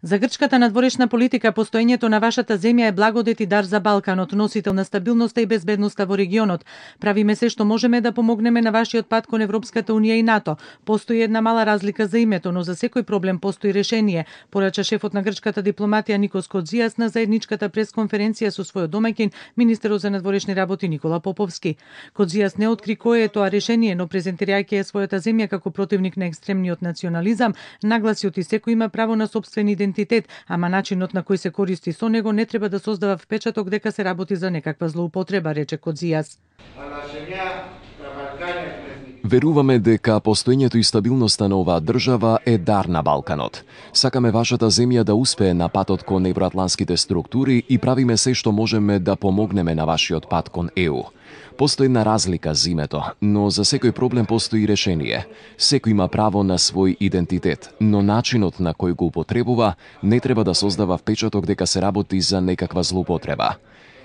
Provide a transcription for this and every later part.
За грчката надворешна политика, постоењето на вашата земја е благодет и дар за Балканот, носител на стабилноста и безбедноста во регионот. Правиме се што можеме да помогнеме на вашиот пат кон Европската унија и НАТО. Постои една мала разлика за името, но за секој проблем постои решение, порача шефот на грчката дипломатија Никос Коцияс на заедничката пресконференција со својот домаќин, министерот за надворешни работи Никола Поповски. Коцияс не откри кое е тоа решение, но презентирајќи ја својата земја како противник на екстремниот национализам, нагласи оти секој има право на сопствен идентитет, ама начинот на кој се користи со него не треба да создава впечаток дека се работи за некаква злоупотреба, рече Коцияс. Веруваме дека постоењето и стабилноста на оваа држава е дар на Балканот. Сакаме вашата земја да успее на патот кон евроатлантските структури и правиме се што можеме да помогнеме на вашиот пат кон ЕУ. Постои една разлика за името, но за секој проблем постои решение. Секој има право на свој идентитет, но начинот на кој го употребува не треба да создава впечаток дека се работи за некаква злоупотреба.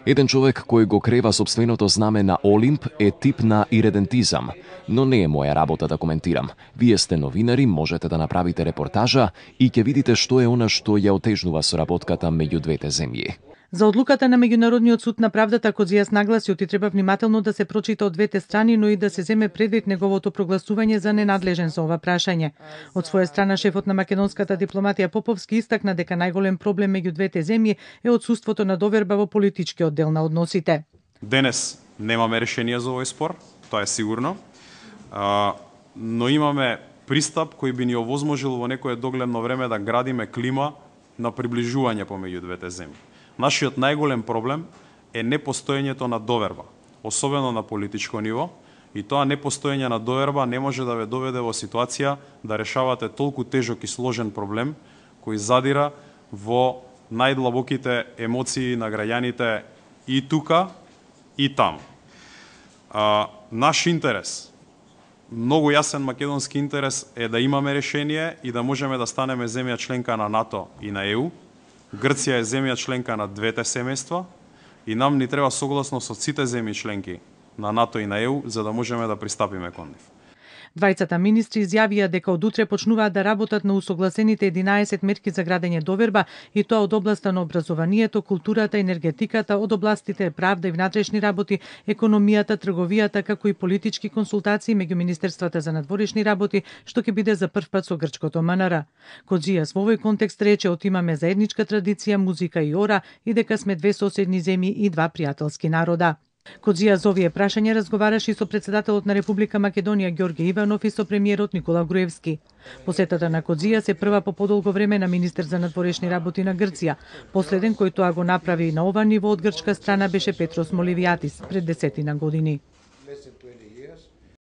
Еден човек кој го крева сопственото знаме на Олимп е тип на иредентизам, но не е моја работа да коментирам. Вие сте новинари, можете да направите репортажа и ќе видите што е она што ја отежнува соработката меѓу двете земји. За одлуката на Меѓународниот суд на правдата, Коцияс нагласи оти треба внимателно да се прочита од двете страни, но и да се земе предвид неговото прогласување за ненадлежен за ова прашање. Од своја страна, шефот на македонската дипломатија Поповски истакна дека најголем проблем меѓу двете земји е отсуството на доверба во политичкиот дел на односите. Денес немаме решение за овој спор, тоа е сигурно, но имаме пристап кој би ни овозможил во некое догледно време да градиме клима на приближување помеѓу двете земји. Нашиот најголем проблем е непостоењето на доверба, особено на политичко ниво, и тоа непостоење на доверба не може да ве доведе во ситуација да решавате толку тежок и сложен проблем кој задира во најдлабоките емоции на граѓаните и тука и таму. Наш интерес, многу јасен македонски интерес е да имаме решение и да можеме да станеме земја членка на НАТО и на ЕУ. Грција е земја членка на двете семејства и нам ни треба согласно со сите земји членки на НАТО и на ЕУ за да можеме да пристапиме кон нив. Двајцата министри изјавија дека од утре почнуваат да работат на усогласените 11 мерки за градење доверба и тоа од областа на образованието, културата, енергетиката, од областите правда и внатрешни работи, економијата, трговијата, како и политички консултации меѓу министерствата за надворешни работи, што ќе биде за прв пат со грчкото МНР. Коцияс во овој контекст рече отимаме заедничка традиција, музика и ора и дека сме две соседни земји и два пријателски народа. Коцияс за овие прашања разговараше и со председателот на Република Македонија Ѓорѓе Иванов и со премиерот Никола Груевски. Посетата на Коцияс е прва по подолго време на министер за надворешни работи на Грција. Последен кој тоа го направи на ова ниво од грчка страна беше Петрос Моливијатис пред 10 години.